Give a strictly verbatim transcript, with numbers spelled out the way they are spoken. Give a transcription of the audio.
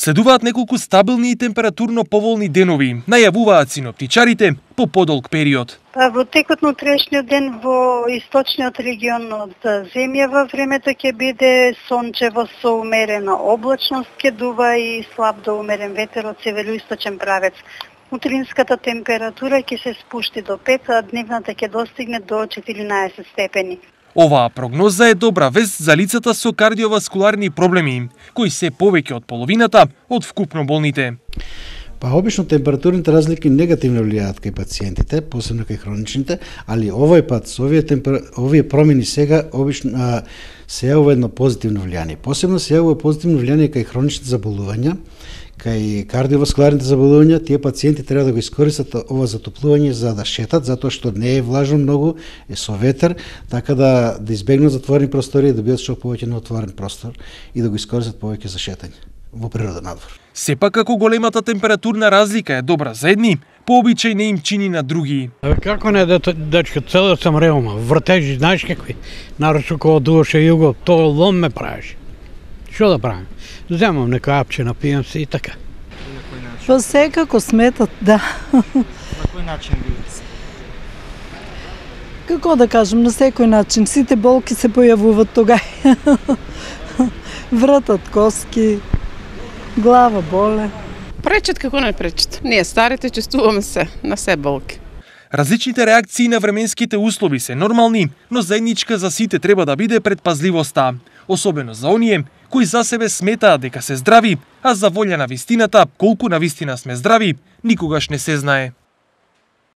Следуваат неколку стабилни и температурно поволни денови, најавуваат синоптичарите по подолг период. Па во текот на утрешниот ден во источниот регион од земјава времето ќе биде сончево со умерена облачност, ќе дува и слаб до умерен ветер од североисточен правец. Утринската температура ќе се спушти до пет, а дневната ќе достигне до четиринаесет степени. Оваа прогноза е добра вест за лицата со кардиоваскуларни проблеми, кои се повеќе од половината од вкупно болните. Па обично температурните разлики негативно влијаат кај пациентите, посебно кај хроничните, али овој пат со овие темпер... овие промени сега обично а, се јавува едно позитивно влијание. Посебно се јавува позитивно влијание кај хроничните заболувања, кај кардиоваскуларните заболувања. Тие пациенти треба да го искористат ова затоплување за да шетат, затоа што не е влажно многу, е со ветер, така да да избегнат затворени простори и да бидат што повеќе на отворен простор и да го искористат повеќе за шетање во природа надвор. Сепак како големата температурна разлика е добра за едни, по обичај не им чини на други. Како не, дечко, цело сам реума, вртежи, знаеш какви, нарочно кога дуваше југо, то лом ме правиш. Што да правим? Земам нека апче, напијам се и така. Па секако сметат, да. На кој начин видите се? Како да кажем, на секој начин. Сите болки се појавуваат тогај. Вратат коски, глава боле. Пречат како не пречат. Ние старите чувствуваме се на се болки. Различните реакции на временските услови се нормални, но заедничка за сите треба да биде предпазливоста, особено за оние кои за себе сметаат дека се здрави, а за волја на вистината, колку на вистина сме здрави, никогаш не се знае.